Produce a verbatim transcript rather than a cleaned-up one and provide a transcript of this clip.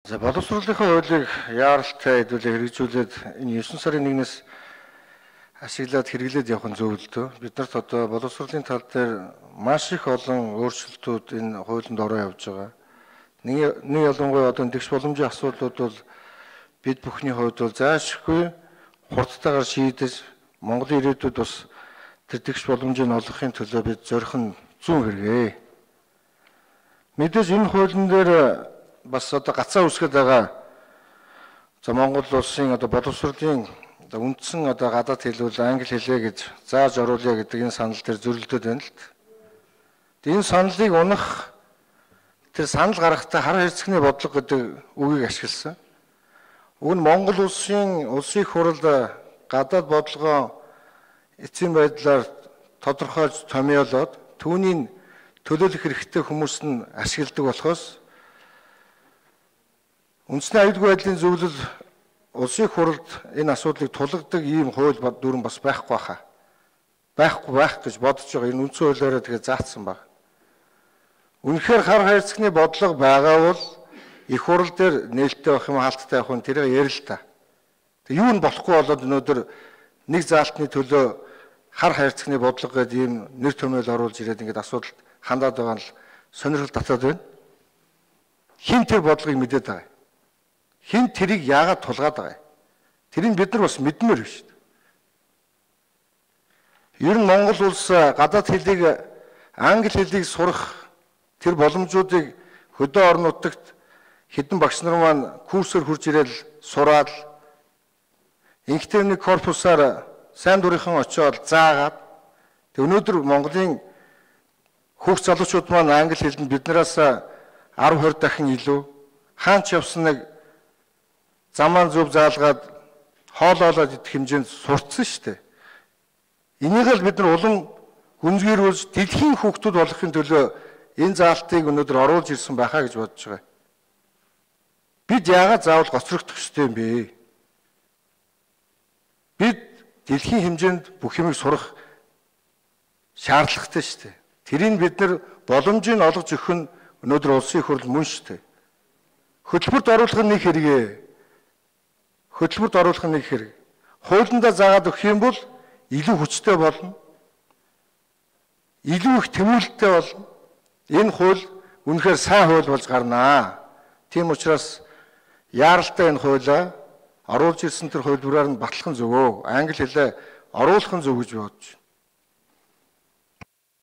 За боловсруулалтын хуулийг яаралтай хэдүүлээ хэрэгжүүлээд энэ девять сарын нэгнээс ашиглаад хэрэглээд явах нь зөв л дөө. Бид нарт одоо боловсруулалтын тал дээр маш их олон өөрчлөлтүүд энэ хуулинд ороо явж байгаа. Нэг нэг ялангуяа одоо тэгш боломжийн асуудлууд бол бид бүхний хувьд бол заашгүй хурдтайгаар шийдэж Монголын ирээдүйд бас тэр тэгш боломжийг олгохын төлөө бид зорих нь зүүн хэрэгээ. Мэдээж энэ хуулийн дээр бас одоо гацаа үсгээд байгаа. За Монгол улсын одоо боловсруулалтын одоо үндсэн одоо гадаад хэл бол англи хэлээ гэж зааж оруулъя гэдэг энэ санал дээр зөрөлдөд байна л. Энэ саналыг унах тэр санал гаргахтаа хар хэрцгийний бодлого гэдэг үгийг ашигласан. Уг нь Монгол улсын улсын их хурл гадаад бодлогоо эцсийн байдлаар тодорхойлж томьёолоод түүнийг төлөөлөх хэрэгтэй хүмүүс нь ашигладаг болохоос үндэсний аюулгүй байдлын зөвлөл улсын хурлд энэ асуудлыг тулгадаг ийм хууль дүрэн бас байхгүй хаа. Байхгүй байх гэж бодож байгаа. Энэ үндсэн хуулиараа тэгээ заасан баг. Үнэхээр хар хайрцагны бодлого байгаа бол их хурл дээр нээлттэй байх юм хаалттай явах нь тэрийг ярил л та. Тэг юу нь болохгүй болоод өнөөдөр нэг заалтны төлөө хар хайрцагны бодлого гэдэг ийм нэр томьёол оруулж ирээд ингээд асуудалд хандаад байгаа нь сонирхол татаад байна. Хин тэр бодлогыг мэдээд байгаа. Хин тэрийг яагаад тулгаад байгаа юм? Тэрийг бид нар бас мэдмээр шүү дээ. Ер нь Монгол улс гадаад хэлийг англи хэлийг сурах тэр боломжуудыг хөдөө орон нутагт хэдэн багш нар маань курсээр хурж ирэл сураад инхтер нэг корпусаар сайн дурынхан очиод заагаад тэг өнөөдөр Монголын хүүхд залуучууд маань англи хэлэнд биднээс ten twenty дахин илүү хаач явсан нэг замаар зөв заалгаад хоолоолоод идэх хэмжээнд сурцсан шүү дээ. Энийг л бид нар улам гүнзгийрүүлж дэлхийн хүүхдүүд болохын төлөө энэ заалтыг өнөөдөр оруулж ирсэн байхаа гэж бодож байгаа. Бид яагаад заавал гоцрогдох ёстой юм бэ? Бид дэлхийн хэмжээнд бүх юмыг сурах шаардлагатай шүү дээ. Тэрийг бид нар боломжийг олгож өгөх нь өнөөдөр улсын их хурл мөн шүү дээ. Хөтөлбөрт оруулах нь нэг хэрэгээ. Хөтөлбөрт оруулах нь нэг хэрэг. Хуулиндаа заагаад өгөх юм бол илүү хүчтэй болно. Илүү их тэмүүлэлттэй болно. Энэ хууль үнэхээр сайн хууль болж гарнаа. Тийм учраас яаралтай энэ хуулиа оруулж ирсэн тэр хуулбараар нь батлах нь зөвөө. Англи хэлээ оруулах нь зөв гэж бодож байна.